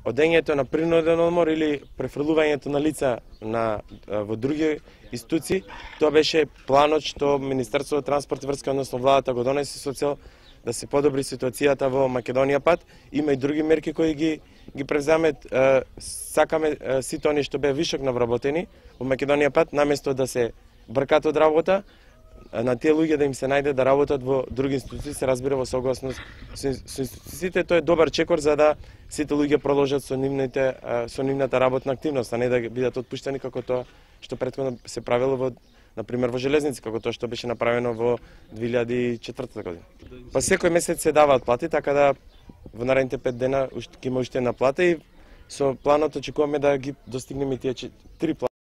одењето на принуден одмор или префрлувањето на лица во други институции, тоа беше планот што Министерството за транспорт и врска, односно владата го донесе со цел да се подобри ситуацијата во Македонија пат. Има и други мерки кои ги превземе. Сакаме сите они што беа вишок навработени во Македонија пат, наместо да се бркат од работа, на тие луѓе да им се најде да работат во други институции, се разбира во согласност со институциите. Тоа е добар чекор за да сите луѓе продолжат со нивната работна активност, а не да бидат отпуштени како тоа што претходно се правило во, например, во железници, како тоа што беше направено во 2004 година. Па секој месец се даваат плати, така да во наредните 5 дена ќе има уште една плата и со планот очекуваме да ги достигнеме тие 3 плати.